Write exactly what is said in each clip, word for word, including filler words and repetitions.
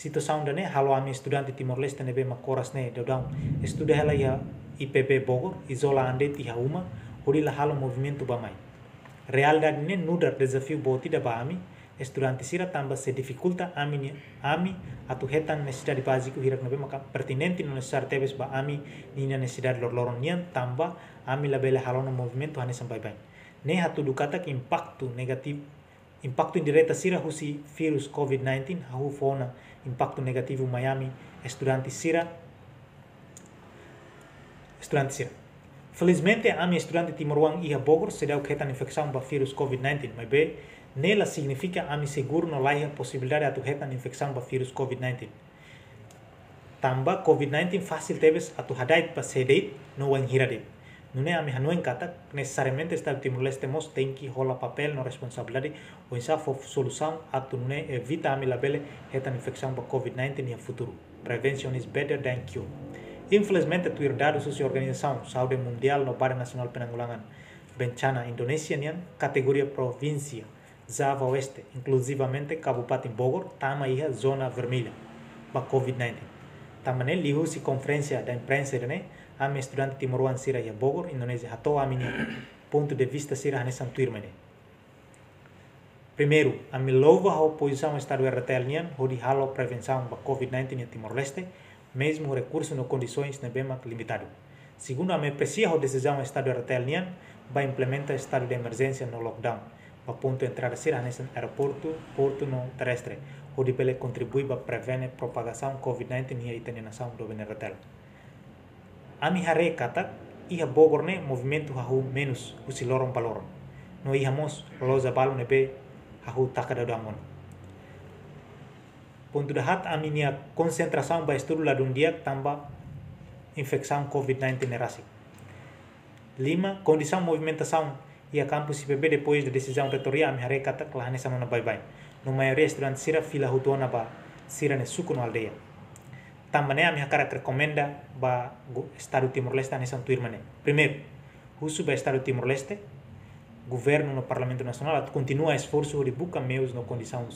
Situasaun ida-ne'e halo ami estudante Timor-Leste ne'ebé mak oras ne'e daudaun estuda hela iha I P B Bogor, izola an de'it iha uma, hodi la halo movimentu bá-mai. Realidade ne'e nu'udar dezafiu boot ida ba ami estudante sira tanba sei difikulta ami ni, ami atu hetan nesesidade báziku hirak ne'ebé maka pertinente no nesesáriu tebes ba ami ninia nesesidade loroloron nian tanba ami labele halo ona movimentu hanesan baibain. Ne'e hatudu katak impaktu negativu, impaktu indireta sira husi virus covid nineteen hahú fó ona impaktu negativu mai ami estudante sira, estudante sira. Felizmente, ami estudante timoroan iha Bogor seidauk hetan infesaun ba virus covid nineteen, maibé ne'e la signifika ami seguru no laiha posibilidade atu hetan infesaun ba virus covid nineteen. Tanba covid nineteen fasil tebes atu hada'et ba sé de'it no wainhira de'it. Nune'e ami hanoin katak nesesariamente Estadu Timor-Leste mós tenke hola papél no responsabilidade oinsá fó solusaun atu nune'e evita ami labele hetan infesaun ba covid nineteen iha futuru. Prevention is better than cure. Infelizmente, tuir dadus husi Organizasaun Saúde Mundiál no Badan Nasionál Penanggulangan Bencana Indonézia nian, kategoria provínsia Java Oeste, inkluzivamente Kabupaten Bogor, tama iha zona vermelha ba covid nineteen. Tanba ne'e, liuhusi konferénsia da imprensa ida-ne'e, ami estudante timoroan sira iha Bogor, Indonézia, hato'o ami-nia pontu de vista sira hanesan tuirmai ne'e. Primeiru, ami louva ho pozisaun Estadu R D T L nian hodi halo prevensaun ba covid nineteen iha Timor-Leste, mezmu rekursu no kondisoens ne'ebé mak limitadu. Segundu, ami apresia ho desizaun Estadu R D T L nian ba implementa estadu de emerjénsia no lockdown ba pontu entrada sira hanesan aeroportu, portu no terrestre, hodi bele kontribui ba prevene propagasaun covid nineteen iha ita-nia nasaun, doben R D T L. Ami haree katak iha Bogor ne'e movimentu hahú menus husi loron ba loron. No iha mós loja balu ne'ebé hahú taka daudaun ona. Pontu dahaat, ami-nia konsentrasaun ba estudu ladún di'ak tanba infesaun covid nineteen ne'e rasik. Lima, kondisaun movimentasaun iha kampus I P B depois da desizaun reitoria ami haree katak la hanesan ona baibain. No maioria estudante sira fila hotu ona ba sira-nia suku no aldeia. Tanba ne'e ami hakarak rekomenda ba go-, Estadu Timor-Leste hanesan tuirmai ne'e. Primeiru, husu ba Estadu Timor-Leste, Governu no Parlamentu Nasionál atu kontinua esforsu hodi buka meius no kondisaun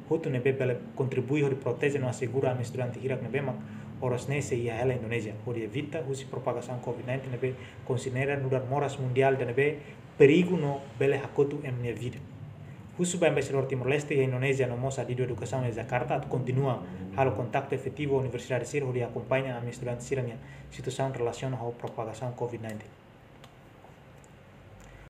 hotu ne'ebé bele kontribui hodi proteje no asegura ami estudante hirak ne'ebé mak oras ne'e sei iha hela Indonézia, hodi evita husi propagasaun covid nineteen ne'ebé konsidera nu'udar moras mundiál ida ne'ebé perigu no bele hakotu ema nia vida. Husu ba Embaixadór Timor-Leste iha Indonézia no mós adidu edukasaun iha Jakarta atu kontinua halo kontaktu efetivu universidade sira hodi akompaña ami estudante sira-nia situasaun relasiona ho propagasaun covid nineteen.